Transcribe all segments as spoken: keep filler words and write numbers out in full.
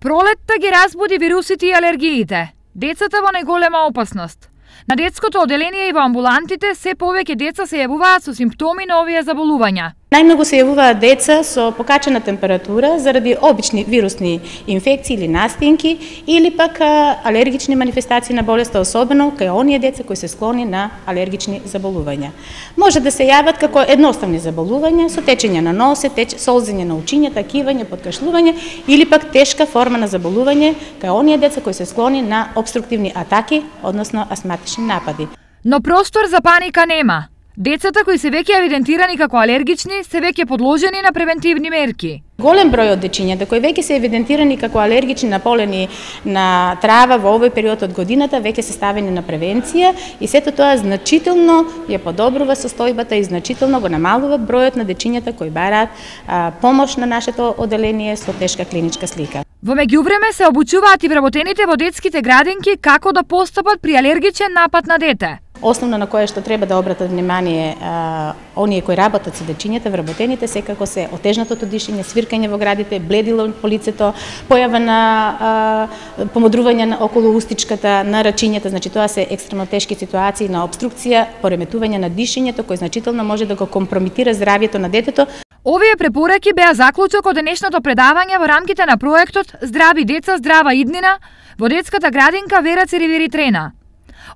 Пролетта ги разбуди вирусите и алергиите. Децата во најголема опасност. На детското оделение и во амбулантите се повеќе деца се јавуваат со симптоми на овие заболувања. Најмногу се јавуваат деца со покачена температура заради обични вирусни инфекции или настинки или пак алергични манифестации на болеста, особено кај оние деца кои се склони на алергични заболувања. Може да се јават како едноставни заболувања со течење на носе, теч, солзење на учињата, кивање, подкашлување или пак тешка форма на заболување кај оние деца кои се склони на обструктивни атаки, односно астматични напади. Но простор за паника нема. Децата кои се веќе евидентирани како алергични се веќе подложени на превентивни мерки. Голем број од дечињата кои веќе се евидентирани како алергични на полени на трава во овој период од годината веќе се ставени на превенција и сето тоа значително ја подобрува состојбата и значително го намалува бројот на дечињата кои бараат а, помош на нашето оделение со тешка клиничка слика. Во меѓувреме се обучуваат и вработените во детските градинки како да постапат при алергичен напад на дете. Основно на кое што треба да обратат внимание а, оние кои работат со дечињата, вработените, секако се отежнатото дишење, свиркање во градите, бледило по лицето, појава на а, помодрување на околу устичката, на рачињата, значи тоа се екстремно тешки ситуации на обструкција, пореметување на дишењето кој значително може да го компромитира здравјето на детето. Овие препораки беа заклучок од денешното предавање во рамките на проектот Здрави деца, здрава иднина во детската градинка Вера Церивери Трена.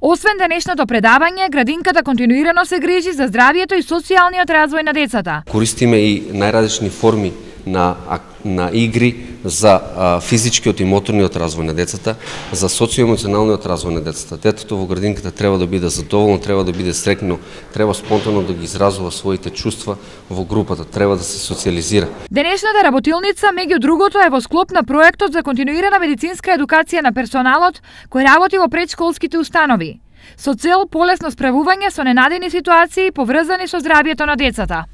Освен денешното предавање, градинката континуирано се грижи за здравието и социјалниот развој на децата. Користиме и најразлични форми на, на игри за а, физичкиот и моторниот развој на децата, за социјоемоционалниот развој на децата. Детето во градинката треба да биде задоволно, треба да биде среќно, треба спонтано да ги изразува своите чувства во групата, треба да се социјализира. Денешната работилница, меѓу другото, е во склоп на проектот за континуирана медицинска едукација на персоналот кој работи во предшколските установи, со цел полесно справување со ненадени ситуации поврзани со здравието на децата.